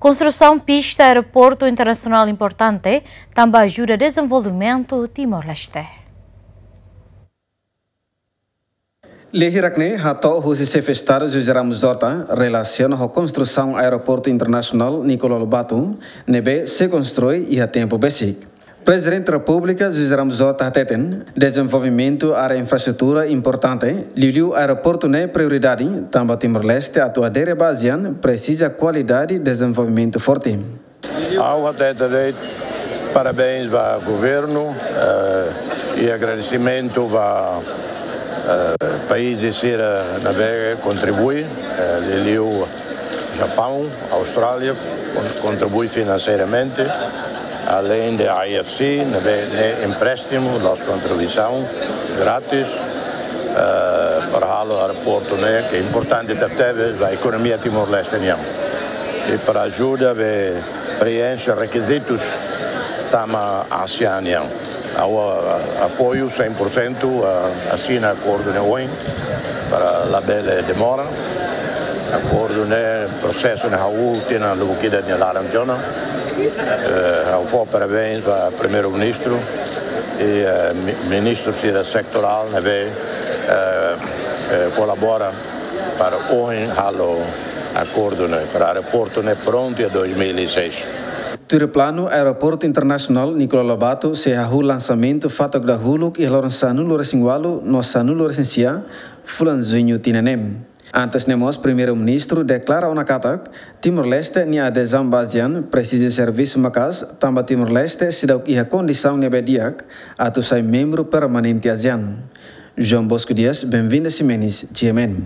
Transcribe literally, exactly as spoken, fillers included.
Konstrusaun pista aeroportu internasionál importante tanba ajuda dezenvolvimentu Timor-Leste. Lia hirak ne'e hato'o husi Xefe Estadu José Ramos Horta relasiona ho konstrusaun aeroportu internasionál Nicolau Lobato, ne'ebé sei konstrui iha tempu besik. Prezidente Repúblika José Ramos Horta hateten, dezenvolvimentu área infraestrutura importante, liuliu aeroportu ne'e prioridade, tanba Timor-Leste atu adere ba ASEAN presiza kualidade dezenvolvimentu forte. Ha'u hatete de'it parabéns ba governu, eh, i agradesimentu ba, eh, países sira ne'ebé kontribui, eh, liuliu Japaun, Austrália, kon-, kontribui finanseiramente, aleinde IFC, ne'ebé, ne'e empréstimu, la'ós kontribuisaun, grátis, eh, para halo aeroportu ne'e, ke importante tebetebes ba ekonomia Timor-Leste nian. I para ajuda be preenxe rekizitus tama ASEAN nian. Ha'u, ah, apoiu cem por cento, ah, asina akordu ne'e ohin para labele demora. Akordu ne'e, prosesu ne'e hahú tinan lubuk ida nia laran tiha ona. Eh, ha'u fó parabéns ba Primeiru-Ministru i, eh, mi-, ministru sira setorál ne'ebé, eh, eh, kolabora para ohin halo akordu ne'e, para aeroportu ne'e prontu iha dois mil e seis. Tuir planu, Aeroportu Internasionál Nicolau Lobato sei hahú lansamentu fatuk dahuluk iha loron sanulu-resin-ualu no sanulu-resin-sia fulan Juñu tinan ne'e. Antes ne'e mós, Primeiru-Ministru deklara ona katak Timor-Leste nia adezaun ba ASEAN presiza servisu maka'as, tanba Timor-Leste seidauk iha kondisaun ne'ebé di'ak atu sai membru permanente ASEAN. João Bosco Dias, Benvinda Ximenes, G M N.